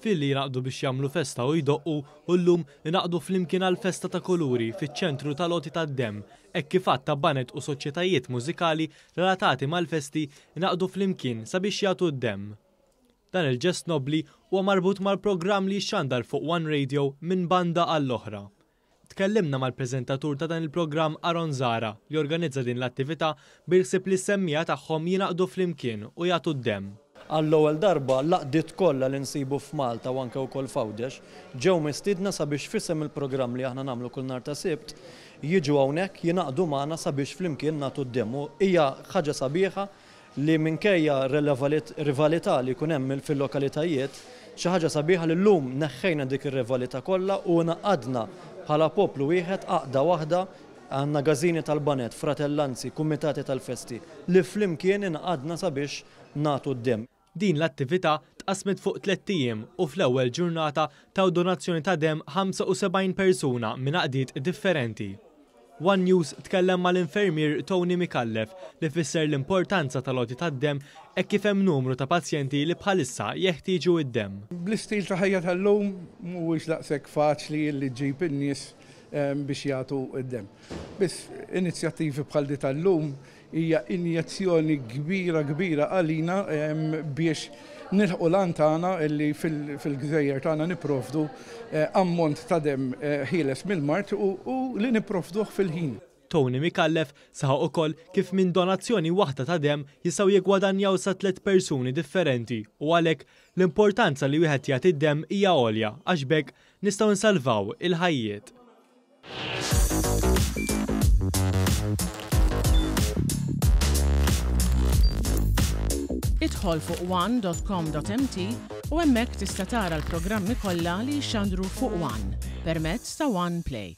Filli jingħaqdu biex jagħmlu festa u jdoqqu u llum ingħaqdu flimkien għal festa ta' kuluri fiċ-ċentru tal-għoti tad-demm hekk kif għadd ta' baned u soċjetajiet mużikali relatati mal-festi ingħaqdu flimkien sabiex jagħtu d-demm. Dan il-ġest nobbli huwa marbut mal-programm li jixxandar fuq One Radio minn banda għall-oħra. Tkellimna mal-preżentatur ta' dan il-programm Aaron Zahra li organizza din l-attività bil-ħsieb li s-semmiegħa tagħhom jingħaqdu flimkien u jagħtu d-demm. Għall-ewwel darba l-għaqdiet kollha li nsibu f'Malta u anke wkoll f'Għawdex ġew mistiedna sabiex f'isem il-programm li aħna nagħmlu kull nhar ta' Sibt jiġu hawnhekk jingħaqdu magħna sabiex flimkien nagħtu d-demm u hija ħaġa sabiħa li minkejja rivalità li jkun hemm fil-lokalitajiet, xi ħaġa sabiħa li llum neħħejna dik ir-rivalità kollha u ingħaqadna bħala poplu wieħed, għaqda waħda, għandna gażini tal-baned, fratellanzi, kumitati tal-festi, li flimkien ingħaqadna sabiex nagħtu d-demm. Din l-attività tqassmet fuq tlett ijiem u fl-ewwel ġurnata taw donazzjoni ta' demm 75 persuna minn għaqdiet differenti. One News tkellem mal-infermier Tony Micallef li fisser l-importanza tal-għoti tad-demm hekk kif hemm numru ta' pazjenti li bħalissa jeħtieġu d-demm. Bl-istil ta' ħajja tal-lum mhuwiex daqshekk faċli li ġġib in-nies biex jagħtu d-demm. Biss inizjattivi bħal di tal-lum Hija injezzjoni kbira kbira għalina biex nilħqu l-għan tagħna li fil-gżejjer tagħna nipprovdu ammont ta' demm ħieles mill-mard u li nipprovduh fil-ħin. Tony Micallef saħaq ukoll kif minn donazzjoni waħda ta' demm jistgħu jiggwadanjaw sa tlett persuni differenti u għalhekk l-importanza li wieħed jagħti d-demm hija għolja għax b'hekk nistgħu nsalvaw il-ħajjiet. Idħol fuq one.com.mt u hemmhekk tista' tara l-programmi kollha li jixxandru fuq One permezz ta' One Play.